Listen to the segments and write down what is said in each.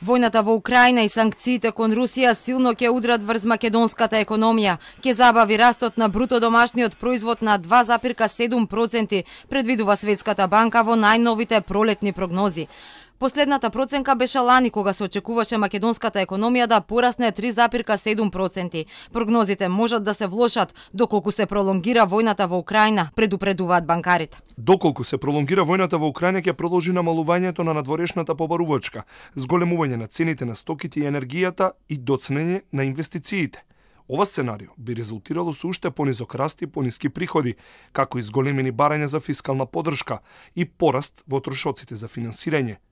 Војната во Украина и санкциите кон Русија силно ќе удрат врз македонската економија, ќе забави растот на бруто домашниот производ на 2,7%, предвидува Светската банка во најновите пролетни прогнози. Последната проценка беше лани, кога се очекуваше македонската економија да порасне 3,7%. Прогнозите можат да се влошат доколку се пролонгира војната во Украина, предупредуваат банкарите. Доколку се пролонгира војната во Украина, ќе продолжи намалувањето на надворешната побарувачка, зголемување на цените на стоките и енергијата и доцнење на инвестициите. Ова сценарио би резултирало со уште понизок раст и пониски приходи, како и зголемени барања за фискална поддршка и пораст во трошоците за финансирање.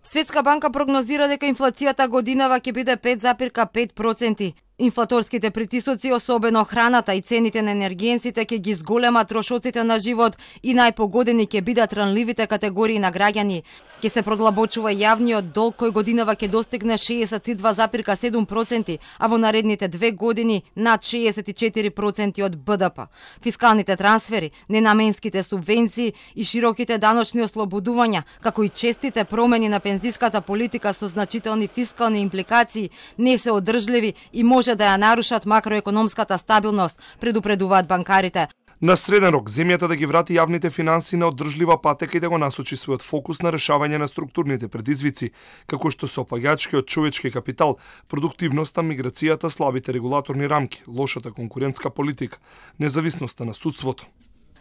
Светска банка прогнозира дека инфлацијата годинава ќе биде 5,5%. Инфлаторските притисоци, особено храната и цените на енергиенците, ќе ги зголемат трошоците на живот и најпогодени ќе бидат ранливите категории на граѓани. Ќе се продлабочува јавниот долг кој годинава ќе достигне 62,7%, а во наредните 2 години над 64% од БДП. Фискалните трансфери, ненаменските субвенции и широките даночни ослободувања, како и честите промени на пензиската политика со значителни фискални импликации, не се одржливи и може да ја нарушат макроекономската стабилност, предупредуваат банкарите. На среден рок, земјата да ги врати јавните финанси на одржлива патека и да го насочи својот фокус на решавање на структурните предизвици, како што се опаѓачкиот човечки капитал, продуктивноста, миграцијата, слабите регулаторни рамки, лошата конкурентска политика, независноста на судството.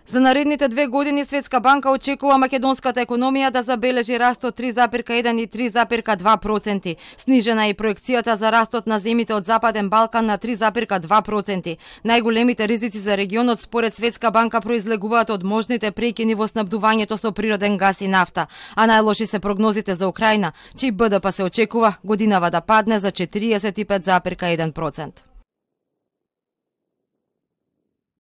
За наредните 2 години Светска банка очекува македонската економија да забележи раст од 3,1 и 3,2%. Снижена е проекцијата за растот на земјите од Западен Балкан на 3,2%. Најголемите ризици за регионот според Светска банка произлегуваат од можните прекини во снабдувањето со природен газ и нафта, а најлоши се прогнозите за Украина, чиј БДП се очекува годинава да падне за 45,1%.